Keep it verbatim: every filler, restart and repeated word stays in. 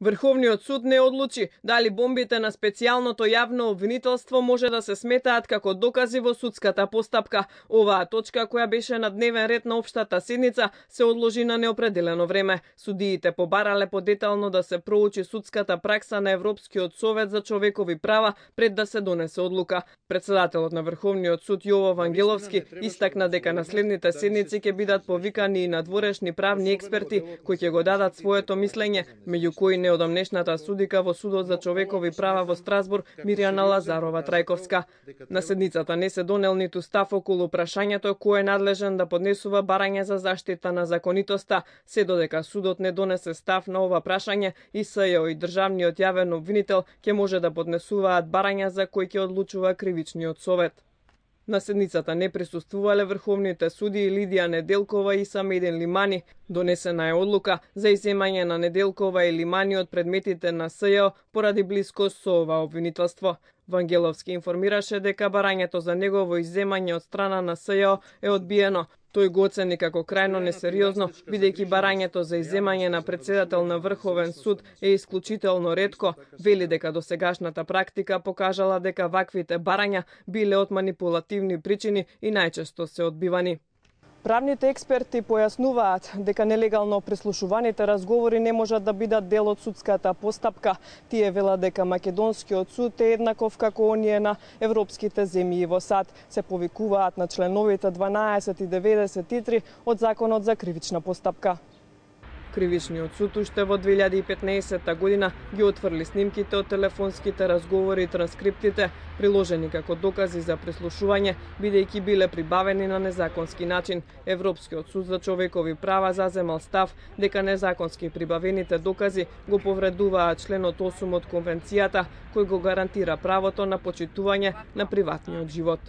Врховниот суд не одлучи дали бомбите на специјалното јавно обвинителство може да се сметаат како докази во судската постапка. Оваа точка, која беше на дневен ред на општата седница, се одложи на неопределено време. Судиите побарале подетално да се проучи судската пракса на Европскиот совет за човекови права пред да се донесе одлука. Председателот на Врховниот суд Јово Вангеловски истакна дека на следните седници ќе бидат повикани и надворешни правни експерти кои ќе го дадат своето мислење, меѓу кои неодамнешната судика во Судот за човекови права во Страсбург Мирјана Лазарова Трајковска. На седницата не се донел ниту став околу прашањето кој е надлежен да поднесува барање за заштита на законитоста, се додека судот не донесе став на ова прашање и СЈО и државниот јавен обвинител ќе може да поднесуваат барања за кои ќе одлучува кривичниот совет. На седницата не присуствувале врховните суди Лидија Неделкова и Самедин Лимани. Донесена е одлука за изземање на Неделкова и Лимани од предметите на СЈО поради блискост со ова обвинителство. Вангеловски информираше дека барањето за негово изземање од страна на СЈО е одбиено. Тој го оцени како крајно несериозно, бидејќи барањето за изземање на председател на Врховен суд е исклучително ретко. Вели дека досегашната практика покажала дека ваквите барања биле од манипулативни причини и најчесто се одбивани. Правните експерти појаснуваат дека нелегално прислушуваните разговори не можат да бидат дел од судската постапка. Тие велат дека македонскиот суд е еднаков како оние на европските земји во САД. Се повикуваат на членовите дванаесет и деветдесет и три од Законот за кривична постапка. Кривичниот суд уште во две илјади и петнаесетта година ги отфрли снимките од телефонските разговори и транскриптите, приложени како докази за прислушување, бидејќи биле прибавени на незаконски начин. Европскиот суд за човекови права заземал став дека незаконски прибавените докази го повредуваат членот осум од Конвенцијата, кој го гарантира правото на почитување на приватниот живот.